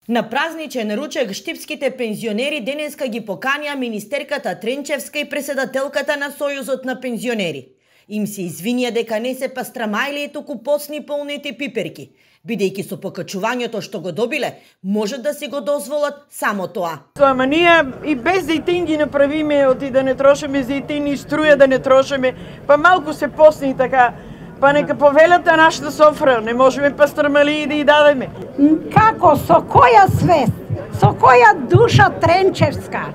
На празничен ручек штипските пензионери денеска ги поканија министерката Тренчевска и преседателката на Сојузот на пензионери. Им се извинија дека не се пастрамајли и туку посни полните пиперки, бидејќи со покачувањето што го добиле, може да си го дозволат само тоа. Ама ние и без зејтин ги направиме, оти да не трошиме зејтин и струја да не трошиме, па малку се посни така. Па нека повелата нашата софра, не можеме пастрамали да ја дадеме. Како, со која свест, со која душа Тренчевска?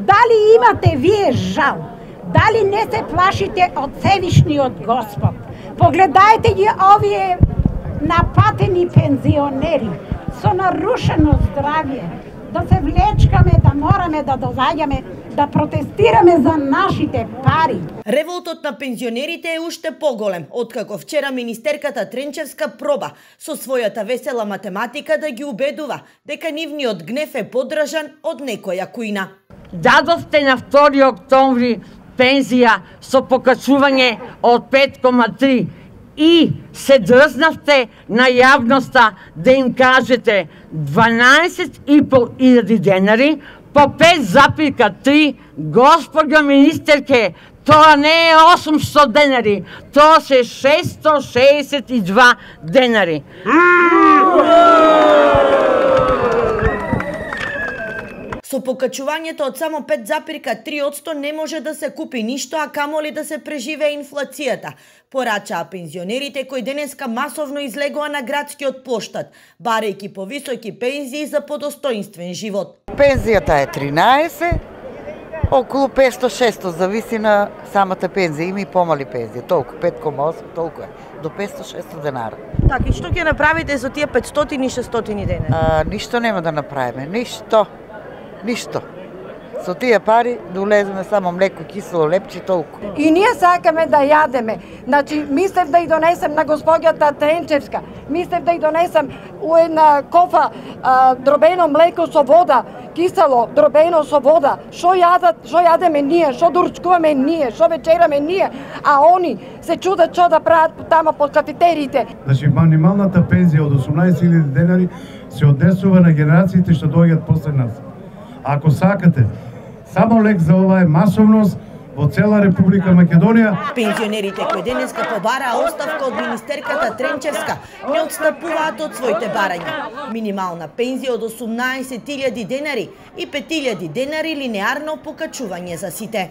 Дали имате вие жал? Дали не се плашите од Севишниот Господ? Погледајте ги овие напатени пензионери со нарушено здравје, да се влечкаме, да мораме да доаѓаме, да протестираме за нашите пари. Револтот на пензионерите е уште поголем, откако вчера министерката Тренчевска проба со својата весела математика да ги убедува дека нивниот гнев е подражан од некоја кујна. Дадовте на 2 октомври пензија со покачување од 5,3 и се дрзнавте на јавноста да им кажете 12.500 денари по 5,3, господја министерке, тоа не е 800 денари, тоа се 662 денари. Со покачувањето од само 5,3% не може да се купи ништо, а камоли да се преживее инфлацијата, порачаа пензионерите кои денеска масовно излегоа на градскиот плоштад, барајќи повисоки пензии за подостоинствен живот. Пензијата е 13, околу 500-600, зависи на самата пензија, има и помали пензии, толку, 5,8, толку е, до 500-600 денара. Така, и што ќе направите со тие 500 и 600 денари? Ништо нема да направиме, ништо. Со тие пари да улеземе само млеко, кисело, лепче, толку. И ние сакаме да јадеме. Значи, мислев да ја донесем на господјата Тренчевска, мислев да ја донесем у една кофа дробено млеко со вода, кисело, дробено со вода. Шо јадеме ние, шо доручкуваме ние, шо вечераме ние, а они се чудат што да прават тама по кафетериите. Значи, минималната пензија од 18.000 денари се однесува на генерациите што доаѓаат после нас. Ако сакате, само лек за ова е масовност во цела Република Македонија. Пензионерите кои денеска побараа оставка од министерката Тренчевска не отстапуваат од своите барања. Минимална пензија од 18.000 денари и 5.000 денари линеарно покачување за сите.